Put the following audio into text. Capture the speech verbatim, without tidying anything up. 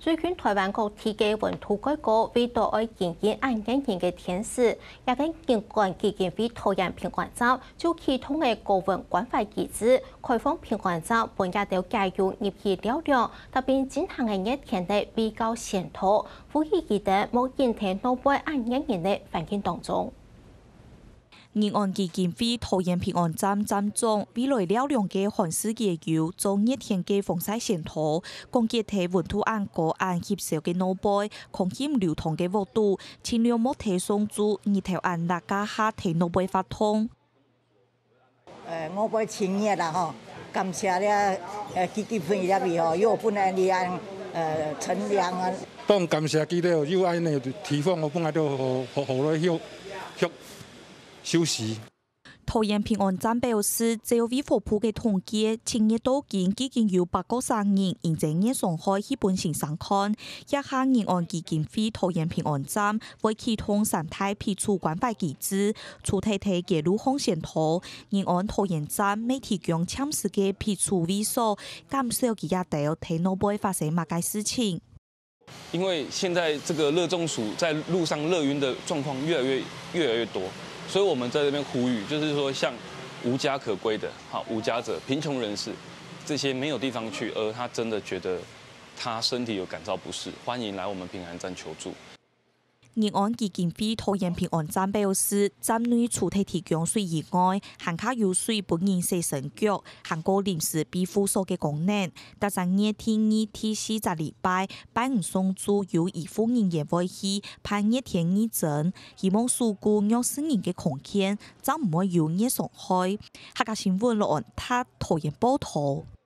最近臺灣各地个溫度過高，為著愛經營恁熱人个天時，這个人權基金會桃園平安站就啟動个高溫關懷機制，開放平安站分這兜街友入去尞涼，搭配進行个熱天个衛教宣導，呼籲佢等莫引在外背恁熱人个環境當中。 人權基金會桃園平安站站長為來尞涼个寒食街友做熱天个防曬宣導，講解在溫度恁高恁翕燒个外背，空氣流通个屋肚，盡量莫在上晝日頭恁烈个下在外背發燙。呃，外背盡熱啦吼，感謝這呃基金會這位吼，又分𠊎這樣呃乘涼啊。當感謝佢了，又恁樣提供我本來都好好好來休休。 休息。桃園平安站表示，照衛福部个統計，七月到今已經有八个成人因為熱傷害去分先生看。這下人權基金會桃園平安站會啟動三大皮粗關懷機制，除忒在街路項宣導，人權桃園站乜提供暫時个皮粗位所，減少佢這兜在外背發生麼个事情。 因為現在這個熱中暑在路上熱暈的狀況越來越越來越多，所以我們在這邊呼籲，就是說像無家可歸的，好無家者、貧窮人士，這些沒有地方去，而他真的覺得他身體有感到不適，歡迎來我們平安站求助。人權基金會桃園平安站表示，站內除忒提供水以外，還較有水分人洗身腳，還過臨時庇護所个功能。 逐隻月第二、第四隻禮拜，拜五上晝有醫護人員會去辦熱天義診，希望守護弱勢人个空間，正毋會有熱傷害。客家新聞羅安達桃園報導。